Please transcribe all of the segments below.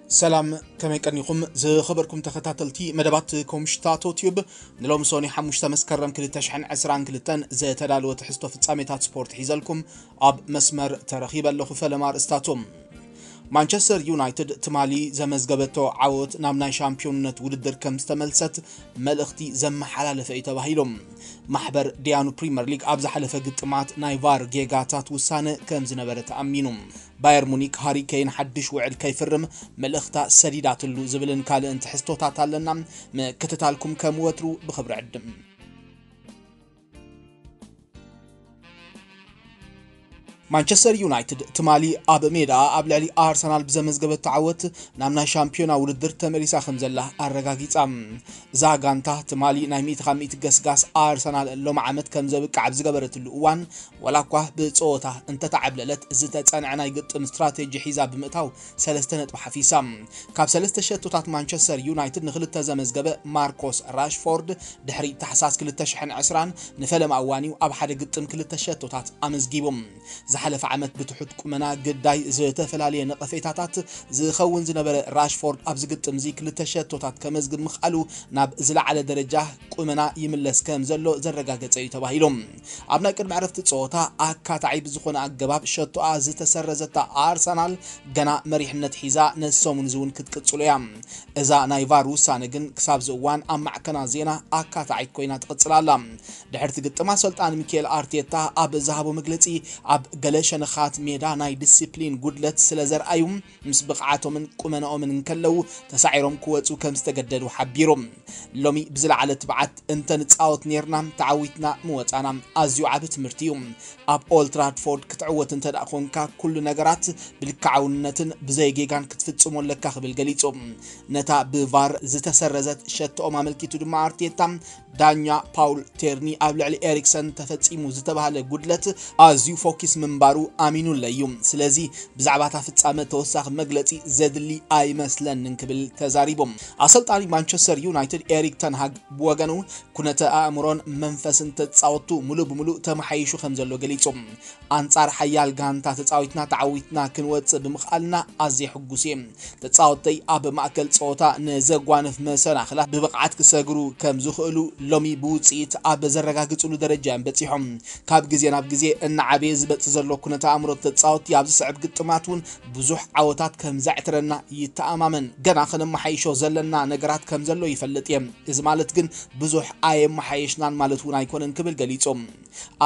ሰላም፣ ከመይ ቀኒኹም ዝኸበርኩም ተኸታተልቲ መደባት ኮምሽታቶ ቲዩብ? ንሎም ሶኒ ሓሙሽተ መስከረም ክልተ ሽሕን ዕስራን ክልተን ዘተዳለወ ትሕዝቶ ፍጻሜታት ስፖርት ሒዘልኩም ኣብ መስመር ተረኺበ ኣለኹ። ፈለማ ኣርእስታቶም። ማንቸስተር ዩናይትድ ትማሊ ዘመዝገበቶ ዓወት ናብ ናይ ሻምፒዮንነት ውድድር ከም ዝተመልሰት መልእኽቲ ዘመሓላለፈ እዩ ተባሂሉ። ማሕበር ዲያኑ ፕሪምየር ሊግ ኣብ ዝሓለፈ ግጥማት ናይ ቫር ጌጋታት ውሳነ ከም ዝነበረ ተኣሚኑ። ባየር ሙኒክ ሃሪ ኬን ሓድሽ ውዕል ከይፍርም መልእኽታ ሰዲዳትሉ ዝብልን ካልእን ትሕዝቶታት ኣለና። ምክትታልኩም ከም ወትሩ ብኽብሪ ዕድም። ማንቸስተር ዩናይትድ ትማሊ ኣብ ሜዳ ኣብ ልዕሊ ኣርሰናል ብዘመዝገበቶ ዓወት ናብ ናይ ሻምፒዮና ውድድር ተመሊሳ ከም ዘላ ኣረጋጊጻ። እዛ ጋንታ ትማሊ ናይ ሚእቲ ካብ ሚእቲ ገስጋስ ኣርሰናል ሎም ዓመት ከም ዘብቅዕ ኣብ ዝገበረትሉ እዋን፣ ዋላ እኳ ብጸወታ እንተተዓብለለት፣ ዝተጸንዐ ናይ ግጥም ስትራቴጂ ሒዛ ብምእታው ሰለስተ ነጥቢ ሓፊሳ። ካብ ሰለስተ ሸቶታት ማንቸስተር ዩናይትድ ንኽልተ ዘመዝገበ ማርኮስ ራሽፎርድ ድሕሪ ታሕሳስ ክልተ ሽሕን ዕስራን ንፈለማ እዋን እዩ ኣብ ሓደ ግጥም ክልተ ሸቶታት ኣመዝጊቡ። ዝሓለፈ ዓመት ብትሑት ቁመና ግዳይ ዝተፈላለየ ነቐፌታታት ዝኸውን ዝነበረ ራሽፎርድ ኣብዚ ግጥም እዚ ክልተ ሸቶታት ከመዝግብ ምኽኣሉ ናብ ዝለዓለ ደረጃ ቁመና ይምለስ ከም ዘሎ ዘረጋገጸ እዩ ተባሂሉ። ኣብ ናይ ቅድሚ ዕረፍቲ ጸወታ ኣካታዒ ብዝኾነ ኣገባብ ሸቶኣ ዝተሰረዘታ ኣርሰናል ገና መሪሕነት ሒዛ ነዚ ሰሙን እዚ እውን ክትቅጽሎ እያ። እዛ ናይ ቫር ውሳነ ግን ክሳብ እዚ እዋን ኣብ ማዕከናት ዜና ኣካታዒት ኮይና ትቕጽል ኣላ። ድሕርቲ ግጥም ኣሰልጣኒ ሚኬል ኣርቴታ ኣብ ዝሃቦ መግለጺ፣ ኣብ ገለ ሸነኻት ሜዳ ናይ ዲሲፕሊን ጉድለት ስለ ዘርኣዩ፣ ምስ ብቕዓቶምን ቁመናኦምን እንከለዉ ተሳዒሮም ክወጹ ከም ዝተገደዱ ሓቢሩ። ሎሚ ብዝለዓለ ትብዓት እንተ ንጻወት ኔርና፣ ተዓዊትና ምወጻና ኣዝዩ ዓቢ ትምህርቲ እዩ። ኣብ ኦልትራድፎርድ ክትዕወት እንተ ደኣ ኾንካ፣ ኩሉ ነገራት ብልክዓውነትን ብዘይ ጌጋን ክትፍጽሞ ኣለካ ክብል ገሊጹ። ነታ ብቫር ዝተሰረዘት ሸቶኦም ኣመልኪቱ ድማ ኣርቴታ፣ ዳኛ ፓውል ቴርኒ ኣብ ልዕሊ ኤሪክሰን ተፈጺሙ ዝተባህለ ጉድለት ኣዝዩ ፎኪስ ምንባሩ ኣሚኑለይ እዩ። ስለዚ ብዛዕባ እታ ፍጻመ ተወሳኺ መግለጺ ዘድሊ ኣይመስለንን ክብል ተዛሪቡ። ኣሰልጣኒ ማንቸስተር ዩናይትድ ኤሪክ ተንሃግ ብወገኑ፣ ኩነተ ኣእምሮን መንፈስን ተጻወቱ ሙሉእ ብሙሉእ ተመሓይሹ ከም ዘሎ ገሊጹ። ኣንጻር ሓያል ጋንታ ተጻዊትና ተዓዊትና ክንወጽእ ብምኽኣልና ኣዝየ ሕጉስ እየ። ተጻወተይ ኣብ ማእከል ጸወታ ንዘጓንፍ መሰናኽላት ብብቕዓት ክሰግሩ ከም ዝኽእሉ ሎሚ ብውጽኢት ኣብ ዘረጋግጽሉ ደረጃ እዮም በጺሖም። ካብ ግዜ ናብ ግዜ እናዓበየ ዝመጽእ ዘሎ ኩነተ ኣእምሮ ተጻወትቲ ኣብ ዝስዕብ ግጥማት እውን ብዙሕ ዓወታት ከም ዘዕትረና ይተኣማመን። ገና ከነመሓይሾ ዘለና ነገራት ከም ዘሎ ይፈልጥ እየ። እዚ ማለት ግን ብዙሕ ኣየመሓየሽናን ማለት እውን ኣይኮነን ክብል ገሊጹ።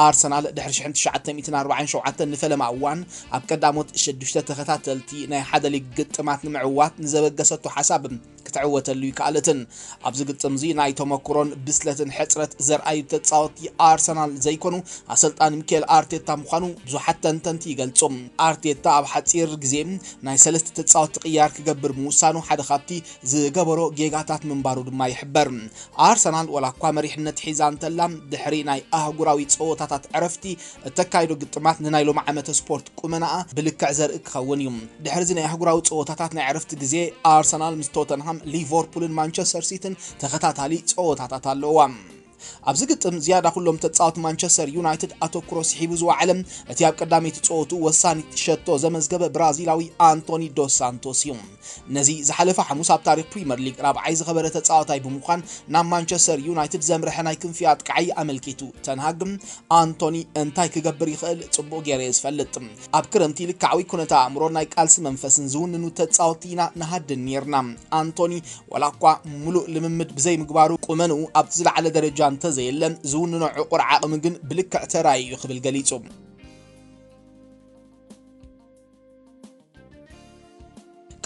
ኣርሰናል ድሕሪ ሽሕን ትሽዓተ ሚእትን ኣርባዓን ሸውዓተን ንፈለማ እዋን ኣብ ቀዳሞት ሽዱሽተ ተኸታተልቲ ናይ ሓደ ሊግ ግጥማት ንምዕዋት ንዘበገሰቶ ሓሳብ ክትዕወተሉ ይከኣለትን። ኣብዚ ግጥም እዚ ናይ ተመኩሮን ብስለትን ሕጽረት ዘርኣዩ ተጻወቲ ኣርሰናል ዘይኮኑ ኣሰልጣኒ ሚኬል ኣርቴታ ምዃኑ ብዙሓት ተንተንቲ ይገልጹ። ኣርቴታ ኣብ ሓጺር ግዜ ናይ ሰለስተ ተጻወቲ ቅያር ክገብር ምውሳኑ ሓደ ካብቲ ዝገበሮ ጌጋታት ምንባሩ ድማ ይሕበር። ኣርሰናል ዋላ እኳ መሪሕነት ሒዛ እንተላ፣ ድሕሪ ናይ ኣህጉራዊ ጸወታታት ዕረፍቲ እተካይዶ ግጥማት ንናይ ሎሚ ዓመተ ስፖርት ቁመናኣ ብልክዕ ዘርኢ ክኸውን እዩ። ድሕሪ እዚ ናይ ኣህጉራዊ ጸወታታት ናይ ዕረፍቲ ግዜ ኣርሰናል ምስ ቶተንሃም፣ ሊቨርፑልን ማንቸስተር ሲቲን ተኸታታሊ ጸወታታት ኣለዋ። ኣብዚ ግጥም ዝያዳ ኩሎም ተጻወቲ ማንቸስተር ዩናይትድ ኣተኩሮ ስሒቡ ዝወዓለ እቲ ኣብ ቀዳመይቲ ጸወቱ ወሳኒ ሸቶ ዘመዝገበ ብራዚላዊ ኣንቶኒ ዶስ ሳንቶስ እዩ። ነዚ ዝሓለፈ ሓሙስ ኣብ ታሪኽ ፕሪምየር ሊግ ራብዓይ ዝኸበረ ተጻዋታይ ብምዃን ናብ ማንቸስተር ዩናይትድ ዘምርሐ ናይ ክንፊ ኣጥቃዓይ ኣመልኪቱ፣ ተንሃግ ኣንቶኒ እንታይ ክገብር ይኽእል ጽቡቕ ገይረ እየ ዝፈልጥ። ኣብ ክረምቲ ልክዓዊ ኩነተ ኣእምሮን ናይ ቃልሲ መንፈስን ዝውንኑ ተጻወትቲ ኢና ንሃድን ኔርና። ኣንቶኒ ዋላ እኳ ሙሉእ ልምምድ ብዘይምግባሩ ቁመንኡ ኣብቲ ዝለዓለ ደረጃ እንተዘየለ፣ ዝውንኖ ዕቑር ዓቕሚ ግን ብልክዕ ተራእዩ እዩ ክብል ገሊጹ።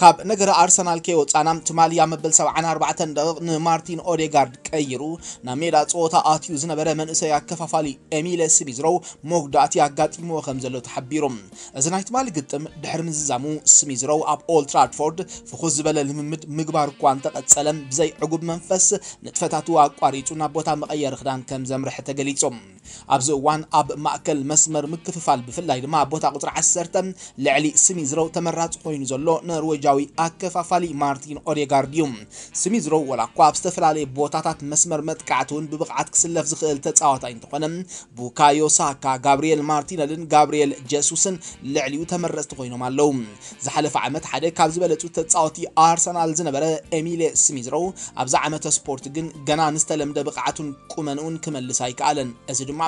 ካብ ነገረ ኣርሰናል ከይወጻና፣ ትማሊ ኣብ መበል ሰብዓን ኣርባዕተን ደቂቕ ንማርቲን ኦዴጋርድ ቀይሩ ናብ ሜዳ ጸወታ ኣትዩ ዝነበረ መንእሰይ ኣከፋፋሊ ኤሚለ ስሚዝሮው መጉዳእቲ ኣጋጢምዎ ከም ዘሎ ተሓቢሩ። እዚ ናይ ትማሊ ግጥም ድሕሪ ምዝዛሙ፣ ስሚዝሮው ኣብ ኦልትራድፎርድ ፍኹስ ዝበለ ልምምድ ምግባር እኳ እንተቐጸለ፣ ብዘይ ዕጉብ መንፈስ ንጥፈታቱ ኣቋሪጹ ናብ ቦታ መቐየሪ ክዳን ከም ዘምርሐ ተገሊጹ። ኣብዚ እዋን ኣብ ማእከል መስመር ምክፍፋል፣ ብፍላይ ድማ ኣብ ቦታ ቁጽሪ ዓሰርተ፣ ልዕሊ ስሚዝሮው ተመራጺ ኮይኑ ዘሎ ኖርዌጃዊ ኣከፋፋሊ ማርቲን ኦዴጋርድ እዩ። ስሚዝሮው፣ ወላ እኳ ኣብ ዝተፈላለየ ቦታታት መስመር መጥቃዕቲ እውን ብብቕዓት ክስለፍ ዝኽእል ተጻዋታይ እንተኾነ፣ ቡካዮ ሳካ፣ ጋብሪኤል ማርቲነልን ጋብሪኤል ጀሱስን ልዕሊኡ ተመረጽቲ ኮይኖም ኣለዉ። ዝሓለፈ ዓመት ሓደ ካብ ዝበለጹ ተጻወቲ ኣርሰናል ዝነበረ ኤሚሌ ስሚዝሮው፣ ኣብዚ ዓመተ ስፖርት ግን ገና ንዝተለምደ ብቕዓቱን ቁመንኡን ክመልስ ኣይከኣለን። እዚ ድማ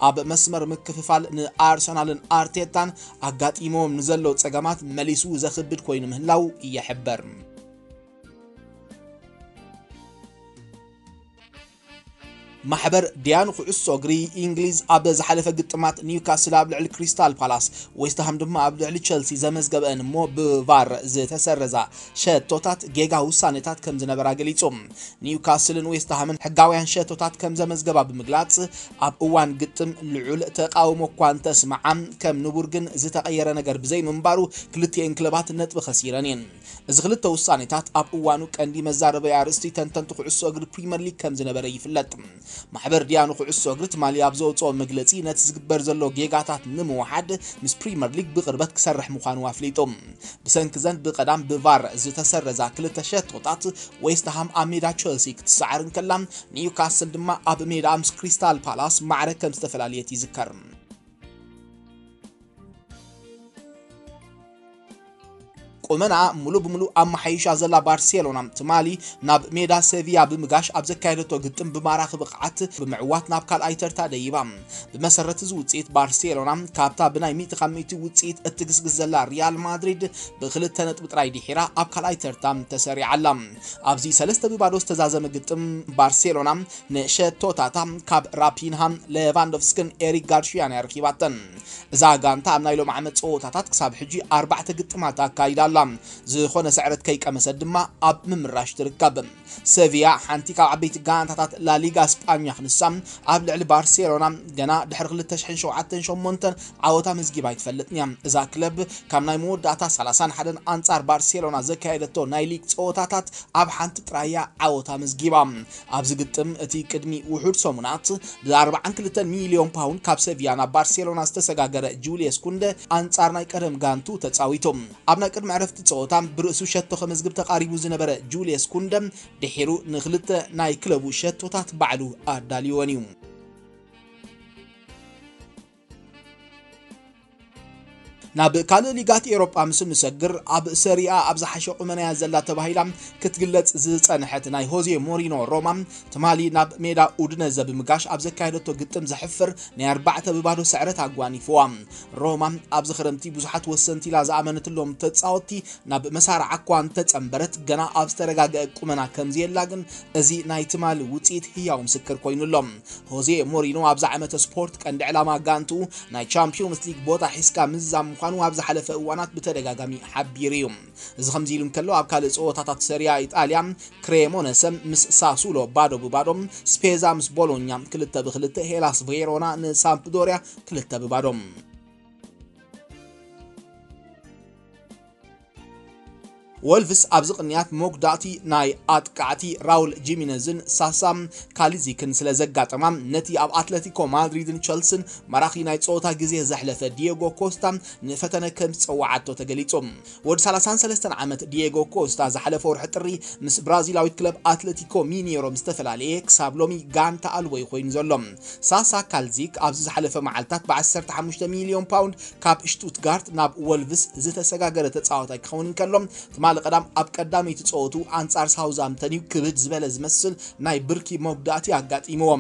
ኣብ መስመር ምክፍፋል ንኣርሰናልን ኣርቴታን ኣጋጢሞም ንዘሎ ጸገማት መሊሱ ዘኽብድ ኮይኑ ምህላው ይሕበር። ማሕበር ዲያን ኩዕሶ እግሪ እንግሊዝ ኣብ ዝሓለፈ ግጥማት ኒውካስል ኣብ ልዕሊ ክሪስታል ፓላስ፣ ዌስትሃም ድማ ኣብ ልዕሊ ቸልሲ ዘመዝገበን እሞ ብቫር ዝተሰረዛ ሸቶታት ጌጋ ውሳኔታት ከም ዝነበራ ገሊጹ። ኒውካስልን ዌስትሃምን ሕጋውያን ሸቶታት ከም ዘመዝገባ ብምግላጽ፣ ኣብ እዋን ግጥም ልዑል ተቃውሞ እኳ እንተስምዓ፣ ከም ንቡር ግን ዝተቐየረ ነገር ብዘይምንባሩ ክልቲኤን ክለባት ነጥቢ ከሲረን እየን። እዚ ክልተ ውሳኔታት ኣብ እዋኑ ቀንዲ መዛረበያ ኣርእስቲ ተንተንቲ ኩዕሶ እግሪ ፕሪመር ሊግ ከም ዝነበረ ይፍለጥ። ማሕበር ዲያኑ ኩዕሶ እግሪ ትማሊ ኣብ ዘውፅኦ መግለፂ፣ ነቲ ዝግበር ዘሎ ጌጋታት ንምውሓድ ምስ ፕሪመር ሊግ ብቕርበት ክሰርሕ ምዃኑ ኣፍሊጡ። ብሰንኪ ዘን ብቐዳም ብቫር ዝተሰረዛ ክልተ ሸቶታት፣ ዌስትሃም ኣብ ሜዳ ቸልሲ ክትሰዓር እንከላ፣ ኒውካስል ድማ ኣብ ሜዳ ምስ ክሪስታል ፓላስ ማዕረ ከም ዝተፈላለየት ይዝከር። ቁመና ሙሉ ብሙሉ ኣመሓይሻ ዘላ ባርሴሎና፣ ትማሊ ናብ ሜዳ ሴቪያ ብምጋሽ ኣብ ዘካየደቶ ግጥም ብማራኺ ብቕዓት ብምዕዋት ናብ ካልኣይ ተርታ ደይባ። ብመሰረት እዚ ውፅኢት፣ ባርሴሎና ካብታ ብናይ ሚእቲ ካብ ሚእቲ ውፅኢት እትግስግስ ዘላ ሪያል ማድሪድ ብክልተ ነጥቢ ጥራይ ድሒራ ኣብ ካልኣይ ተርታ ተሰሪዓ ኣላ። ኣብዚ ሰለስተ ብባዶ ዝተዛዘመ ግጥም፣ ባርሴሎና ንሸቶታታ ካብ ራፒንሃ፣ ሌቫንዶቭስክን ኤሪክ ጋርሺያን እያ ረኺባተን። እዛ ጋንታ ኣብ ናይ ሎም ዓመት ጸወታታት ክሳብ ሕጂ ኣርባዕተ ግጥማት ኣካይዳ ኣላ። ዝኾነ ስዕረት ከይቀመሰት ድማ ኣብ ምምራሽ ትርከብ። ሰቪያ፣ ሓንቲ ካብ ዓበይቲ ጋንታታት ላሊጋ ስጳኛ ክንሳ፣ ኣብ ልዕሊ ባርሴሎና ገና ድሕሪ ክልተ ሽሕን ሸውዓተን ሸሞንተን ዓወታ መዝጊባ ኣይትፈልጥን እያ። እዛ ክለብ ካብ ናይ መወዳእታ ሰላሳን ሓደን ኣንጻር ባርሴሎና ዘካየደቶ ናይ ሊግ ጸወታታት ኣብ ሓንቲ ጥራይ እያ ዓወታ መዝጊባ። ኣብዚ ግጥም፣ እቲ ቅድሚ ውሑድ ሰሙናት ብኣርባዓን ክልተን ሚልዮን ፓውንድ ካብ ሰቪያ ናብ ባርሴሎና ዝተሰጋገረ ጁልየስ ኩንደ፣ ኣንጻር ናይ ቀደም ጋንቱ ተጻዊቱ። ኣብ ናይ ቅድሚ ዕረፍቲ ጸወታ ብርእሱ ሸቶ ከመዝግብ ተቓሪቡ ዝነበረ ጁልየስ ኩንደ፣ ድሒሩ ንኽልተ ናይ ክለቡ ሸቶታት ባዕሉ ኣዳልወን እዩ። ናብ ካልእ ሊጋት ኤሮጳ ምስ እንሰግር፣ ኣብ ሰሪኣ ኣብ ዝሓሸ ቁመናያ ዘላ ተባሂላ ክትግለጽ ዝጸንሐት ናይ ሆዜ ሞሪኖ ሮማ፣ ትማሊ ናብ ሜዳ ኡድነዘ ብምጋሽ ኣብ ዘካየደቶ ግጥም ዘሕፍር ናይ ኣርባዕተ ብባዶ ስዕረት ኣጓኒፍዋ። ሮማ ኣብዚ ክረምቲ ብዙሓት ወሰንቲ ኢላ ዝኣመነትሎም ተጻወትቲ ናብ መሳርዓ እኳ እንተጸንበረት፣ ገና ኣብ ዝተረጋገአ ቁመና ከምዘየላ ግን፣ እዚ ናይ ትማሊ ውጽኢት ህያው ምስክር ኮይኑ ኣሎ። ሆዜ ሞሪኖ ኣብዚ ዓመተ ስፖርት ቀንዲ ዕላማ ጋንትኡ ናይ ቻምፒዮንስ ሊግ ቦታ ሒዝካ ምዝዛም ምዃኑ ኣብ ዝሓለፈ እዋናት ብተደጋጋሚ ሓቢሩ እዩ። እዚ ከምዚ ኢሉ እንከሎ፣ ኣብ ካልእ ጸወታታት ሰሪያ ኢጣልያ፣ ክሬሞነሰ ምስ ሳሱሎ ባዶ ብባዶ፣ ስፔዛ ምስ ቦሎኛ ክልተ ብክልተ፣ ሄላስ ቬሮና ንሳምፕዶሪያ ክልተ ብባዶ። ወልቭስ ኣብዚ ቅንያት መጉዳእቲ ናይ ኣጥቃዕቲ ራውል ጂሚነዝን ሳሳ ካሊዚክን ስለ ዘጋጠማ፣ ነቲ ኣብ ኣትለቲኮ ማድሪድን ቸልስን መራኺ ናይ ጸወታ ግዜ ዘሕለፈ ዲየጎ ኮስታ ንፈተነ ከም ዝጸውዓቶ ተገሊጹ። ወዲ ሰላሳን ሰለስተን ዓመት ዲየጎ ኮስታ ዝሓለፈ ወርሒ ጥሪ ምስ ብራዚላዊት ክለብ ኣትለቲኮ ሚኔሮ ምስ ተፈላለየ፣ ክሳብ ሎሚ ጋንታ ኣልቦ እዩ ኮይኑ ዘሎ። ሳሳ ካልዚክ ኣብዚ ዝሓለፈ መዓልታት ብ ዓሰርተ ሓሙሽተ ሚልዮን ፓውንድ ካብ ሽቱትጋርት ናብ ወልቭስ ዝተሰጋገረ ተጻዋታይ ክኸውን እንከሎ፣ ትማሊ ቀዳም ኣብ ቀዳመይቲ ጸወቱ ኣንጻር ሳውዛምተን እዩ ክብድ ዝበለ ዝመስል ናይ ብርኪ መጉዳእቲ ኣጋጢምዎ።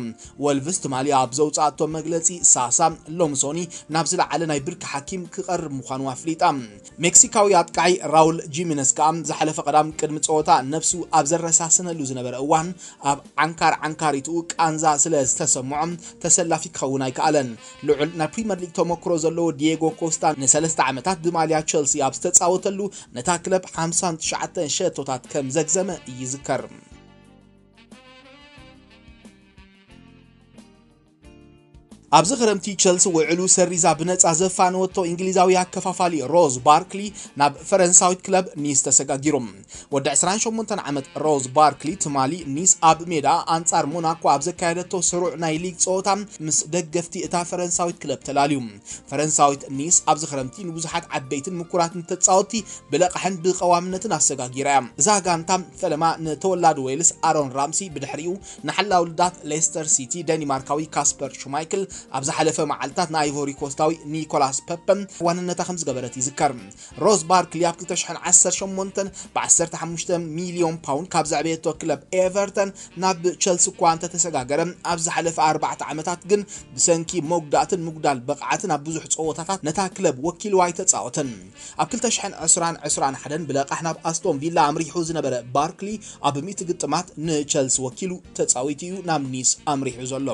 ወልቭስ ትማሊ ኣብ ዘውጻኣቶ መግለጺ፣ ሳሳ ሎምሶኒ ናብ ዝለዓለ ናይ ብርኪ ሓኪም ክቐርብ ምዃኑ ኣፍሊጣ። ሜክሲካዊ ኣጥቃዒ ራውል ጂሚነስ ከኣ ዝሓለፈ ቀዳም ቅድሚ ጸወታ ነብሱ ኣብ ዘረሳስነሉ ዝነበረ እዋን፣ ኣብ ዓንካር ዓንካሪትኡ ቃንዛ ስለ ዝተሰምዖ ተሰላፊ ክኸውን ኣይከኣለን። ልዑል ናይ ፕሪምየር ሊግ ተመክሮ ዘለዎ ዲየጎ ኮስታ ንሰለስተ ዓመታት ብማልያ ቸልሲ ኣብ ዝተጻወተሉ፣ ነታ ክለብ ሓምሳን ትሽዓተን ሸቶታት ከም ዘግዘመ ይዝከር። ኣብዚ ክረምቲ ቸልሲ ውዕሉ ሰሪዛ ብነጻ ዘፋነወቶ እንግሊዛዊ ኣከፋፋሊ ሮዝ ባርክሊ ናብ ፈረንሳዊት ክለብ ኒስ ተሰጋጊሩ። ወዲ ዕስራን ሸሞንተን ዓመት ሮዝ ባርክሊ ትማሊ ኒስ ኣብ ሜዳ ኣንጻር ሞናኮ ኣብ ዘካየደቶ ስሩዕ ናይ ሊግ ጸወታ ምስ ደገፍቲ እታ ፈረንሳዊት ክለብ ተላልዩ። ፈረንሳዊት ኒስ ኣብዚ ክረምቲ ንብዙሓት ዓበይትን ምኩራትን ተጻወትቲ ብለቕሕን ብቐዋምነትን ኣሰጋጊራ እያ። እዛ ጋንታ ፈለማ ንተወላዲ ዌልስ ኣሮን ራምሲ፣ ብድሕሪኡ ንሓላው ልዳት ሌስተር ሲቲ ደኒማርካዊ ካስፐር ሹማይክል፣ ኣብ ዝሓለፈ መዓልታት ንኣይቮሪ ኮስታዊ ኒኮላስ ፐፐ ዋንነታ ከም ዝገበረት ይዝከር። ሮዝ ባርክሊ ኣብ ክልተ ሽሕን ዓሰርተ ሸሞንተን ብ ዓሰርተ ሓሙሽተ ሚልዮን ፓውንድ ካብ ዘዕበየቶ ክለብ ኤቨርተን ናብ ቸልሲ እኳ እንተተሰጋገረ፣ ኣብ ዝሓለፈ ኣርባዕተ ዓመታት ግን ብሰንኪ መጉዳእትን ምጉዳል ብቕዓትን ኣብ ብዙሕ ጸወታታት ነታ ክለብ ወኪልዋ ኣይተጻወተን። ኣብ ክልተ ሽሕን ዕስራን ዕስራን ሓደን ብለቓሕ ናብ ኣስቶን ቪላ ኣምሪሑ ዝነበረ ባርክሊ፣ ኣብ ሚእቲ ግጥማት ንቸልሲ ወኪሉ ተጻዊቱ እዩ ናብ ኒስ ኣምሪሑ ዘሎ።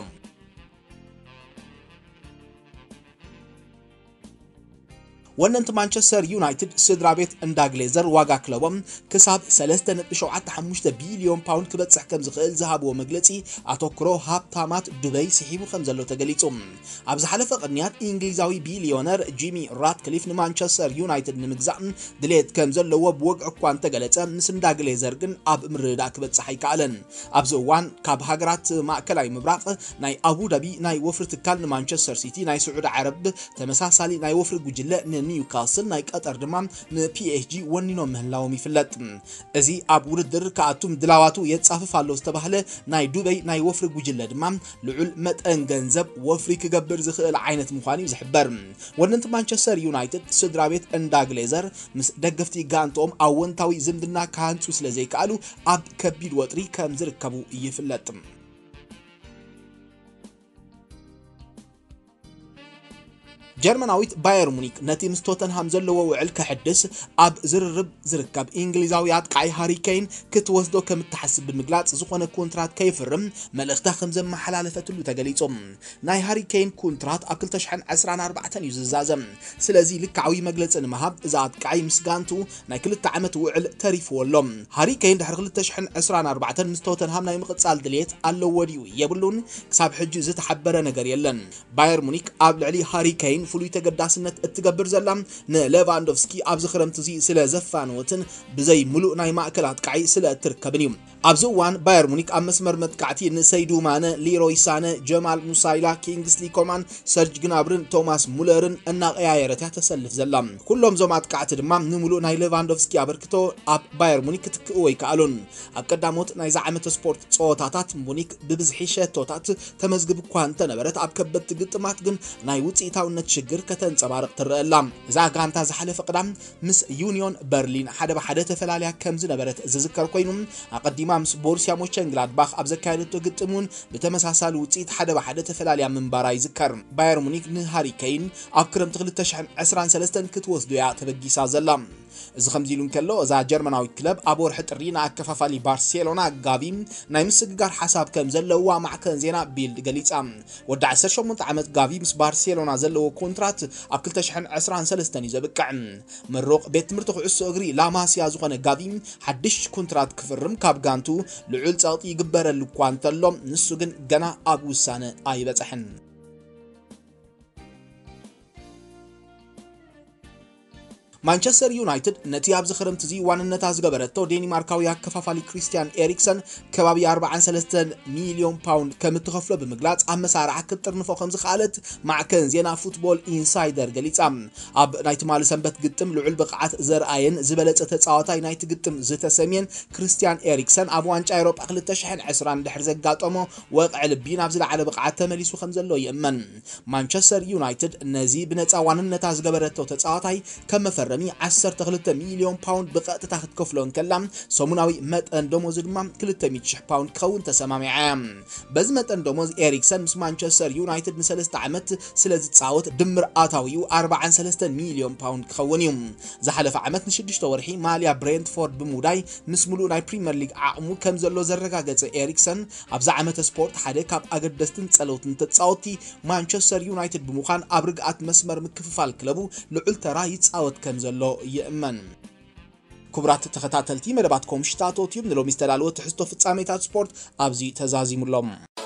ወነንቲ ማንቸስተር ዩናይትድ ስድራ ቤት እንዳ ግሌዘር ዋጋ ክለቦም ክሳብ ሰለስተ ነጥቢ ሸውዓተ ሓሙሽተ ቢልዮን ፓውንድ ክበጽሕ ከም ዝኽእል ዝሃብዎ መግለጺ፣ ኣተኩሮ ሃብታማት ዱበይ ስሒቡ ከም ዘሎ ተገሊጹ። ኣብ ዝሓለፈ ቅንያት፣ እንግሊዛዊ ቢልዮነር ጂሚ ራትክሊፍ ንማንቸስተር ዩናይትድ ንምግዛእ ድሌት ከም ዘለዎ ብወግዒ እኳ እንተገለጸ፣ ምስ እንዳ ግሌዘር ግን ኣብ ምርድዳእ ክበጽሕ ኣይከኣለን። ኣብዚ እዋን፣ ካብ ሃገራት ማእከላይ ምብራቕ ናይ ኣቡዳቢ ናይ ወፍሪ ትካል ንማንቸስተር ሲቲ፣ ናይ ስዑዲ ዓረብ ተመሳሳሊ ናይ ወፍሪ ጉጅለ ንኒውካስል፣ ናይ ቀጠር ድማ ንፒኤስጂ ወኒኖም ምህላዎም ይፍለጥ። እዚ ኣብ ውድድር ክኣቱ ምድላዋቱ የጻፍፍ ኣሎ ዝተባህለ ናይ ዱበይ ናይ ወፍሪ ጉጅለ ድማ፣ ልዑል መጠን ገንዘብ ወፍሪ ክገብር ዝኽእል ዓይነት ምዃኑ እዩ ዝሕበር። ወነንቲ ማንቸስተር ዩናይትድ ስድራ ቤት እንዳ ግሌዘር ምስ ደገፍቲ ጋንትኦም ኣወንታዊ ዝምድና ክሃንጹ ስለ ዘይከኣሉ፣ ኣብ ከቢድ ወጥሪ ከም ዝርከቡ ይፍለጥ። ጀርመናዊት ባየር ሙኒክ ነቲ ምስ ቶተንሃም ዘለዎ ውዕል ከሕድስ ኣብ ዝርርብ ዝርከብ እንግሊዛዊ ኣጥቃዒ ሃሪ ኬን ክትወስዶ ከም እትሓስብ ብምግላጽ፣ ዝኾነ ኮንትራት ከይፍርም መልእኽታ ከም ዘመሓላለፈትሉ ተገሊጹ። ናይ ሃሪ ኬን ኮንትራት ኣብ ክልተ ሽሕን ዕስራን ኣርባዕተን እዩ ዝዛዘም። ስለዚ ልክዓዊ መግለጺ ንምሃብ፣ እዚ ኣጥቃዒ ምስ ጋንቱ ናይ ክልተ ዓመት ውዕል ተሪፍዎ ኣሎ። ሃሪ ኬን ድሕሪ ክልተ ሽሕን ዕስራን ኣርባዕተን ምስ ቶተንሃም ናይ ምቕጻል ድሌት ኣለዎ ድዩ የብሉን፣ ክሳብ ሕጂ ዝተሓበረ ነገር የለን። ባየር ሙኒክ ኣብ ልዕሊ ሃሪ ኬን ፍሉይ ተገዳስነት እትገብር ዘላ፣ ንሌቫንዶቭስኪ ኣብዚ ክረምቲ እዚ ስለ ዘፋነወትን ብዘይ ምሉእ ናይ ማእከል ኣጥቃዒ ስለ እትርከብን እዩ። ኣብዚ እዋን፣ ባየር ሙኒክ ኣብ መስመር መጥቃዕቲ ንሰይዱ ማነ፣ ሊሮይ ሳነ፣ ጀማል ሙሳይላ፣ ኪንግስሊ ኮማን፣ ሰርጅ ግናብርን ቶማስ ሙለርን እናቐያየረት እያ ተሰልፍ ዘላ። ኩሎም እዞም ኣጥቃዕቲ ድማ ንምሉእ ናይ ሌቫንዶቭስኪ ኣበርክቶ ኣብ ባየር ሙኒክ ክትክእዎ ኣይከኣሉን። ኣብ ቀዳሞት ናይዚ ዓመት ስፖርት ጸወታታት፣ ሙኒክ ብብዝሒ ሸቶታት ተመዝግብ እኳ እንተነበረት፣ ኣብ ከበድቲ ግጥማት ግን ናይ ውጽኢታውነት ሽግር ከተንጸባርቕ ትረአ ኣላ። እዛ ጋንታ ዝሓለፈ ቅዳም ምስ ዩኒዮን በርሊን ሓደ ብሓደ ተፈላልያ ከም ዝነበረት ዝዝከር ኮይኑ፣ ኣቐዲማ ምስ ቦሩስያ ሞንቸንግላድባኽ ኣብ ዘካየደቶ ግጥም እውን ብተመሳሳሊ ውጽኢት ሓደ ብሓደ ተፈላልያ ምንባራ ይዝከር። ባየር ሙኒክ ንሃሪ ኬን ኣብ ክረምቲ ክልተ ሽሕን ዕስራን ሰለስተን ክትወስዶ እያ ተበጊሳ ዘላ። እዚ ከምዚ ኢሉ እንከሎ፣ እዛ ጀርመናዊት ክለብ ኣብ ወርሒ ጥሪ ንኣከፋፋሊ ባርሴሎና ጋቪ ናይ ምስግጋር ሓሳብ ከም ዘለዋ ማዕከን ዜና ቢልድ ገሊጻ። ወዲ ዓሰርተ ሸሞንተ ዓመት ጋቪ ምስ ባርሴሎና ዘለዎ ኮንትራት ኣብ ክልተ ሽሕን ዕስራን ሰለስተን እዩ ዘብቅዕ። ምሩቕ ቤት ትምህርቲ ኩዕሶ እግሪ ላማሲያ ዝኾነ ጋቪ፣ ሓድሽ ኮንትራት ክፍርም ካብ ጋንቱ ልዑል ጸቕጢ ይግበረሉ እኳ እንተሎ፣ ንሱ ግን ገና ኣብ ውሳነ ኣይበጽሐን። ማንቸስተር ዩናይትድ ነቲ ኣብዚ ክረምቲ እዚ ዋንነታ ዝገበረቶ ዴኒማርካዊ ኣከፋፋሊ ክሪስትያን ኤሪክሰን ከባቢ ኣርባዓን ሰለስተን ሚልዮን ፓውንድ ከም እትኸፍሎ ብምግላጽ፣ ኣብ መሳርዓ ክትጥርንፎ ከም ዝኸኣለት ማዕከን ዜና ፉትቦል ኢንሳይደር ገሊጻ። ኣብ ናይ ትማሊ ሰንበት ግጥም ልዑል ብቕዓት ዘርኣየን ዝበለጸ ተጻዋታይ ናይቲ ግጥም ዝተሰምየን ክሪስትያን ኤሪክሰን፣ ኣብ ዋንጫ ኤውሮጳ ክልተ ሽሕን ዕስራን ድሕሪ ዘጋጠሞ ወቕዒ ልቢ ናብ ዝለዓለ ብቕዓት ተመሊሱ ከም ዘሎ ይእመን። ማንቸስተር ዩናይትድ ነዚ ብነጻ ዋንነታ ዝገበረቶ ተጻዋታይ ከም መፈረሚ ዓሰርተ ክልተ ሚልዮን ፓውንድ ብቐጥታ ክትከፍሎ እንከላ፣ ሰሙናዊ መጠን ደሞዙ ድማ ክልተ ሚእቲ ሽሕ ፓውንድ ክኸውን ተሰማሚዓ እያ። በዚ መጠን ደሞዝ፣ ኤሪክሰን ምስ ማንቸስተር ዩናይትድ ንሰለስተ ዓመት ስለ ዝጻወት፣ ድምር ኣታዊኡ ኣርባዓን ሰለስተን ሚልዮን ፓውንድ ክኸውን እዩ። ዝሓለፈ ዓመት ንሽዱሽተ ወርሒ ማልያ ብሬንትፎርድ ብምውዳይ፣ ምስ ምሉእ ናይ ፕሪምየር ሊግ ዓቕሙ ከም ዘሎ ዘረጋገጸ ኤሪክሰን፣ ኣብዚ ዓመተ ስፖርት ሓደ ካብ ኣገደስትን ጸለውትን ተጻወትቲ ማንቸስተር ዩናይትድ ብምዃን፣ ኣብ ርግኣት መስመር ምክፍፋል ክለቡ ልዑል ተራ ይጻወት ከም ዘሎ ይእመን። ክቡራት ተኸታተልቲ መደባት ኮምሽታቶ ቲዩብ፣ ንሎሚ ዝተዳለወ ትሕዝቶ ፍጻሜታት ስፖርት ኣብዚ ተዛዚሙ ኣሎ።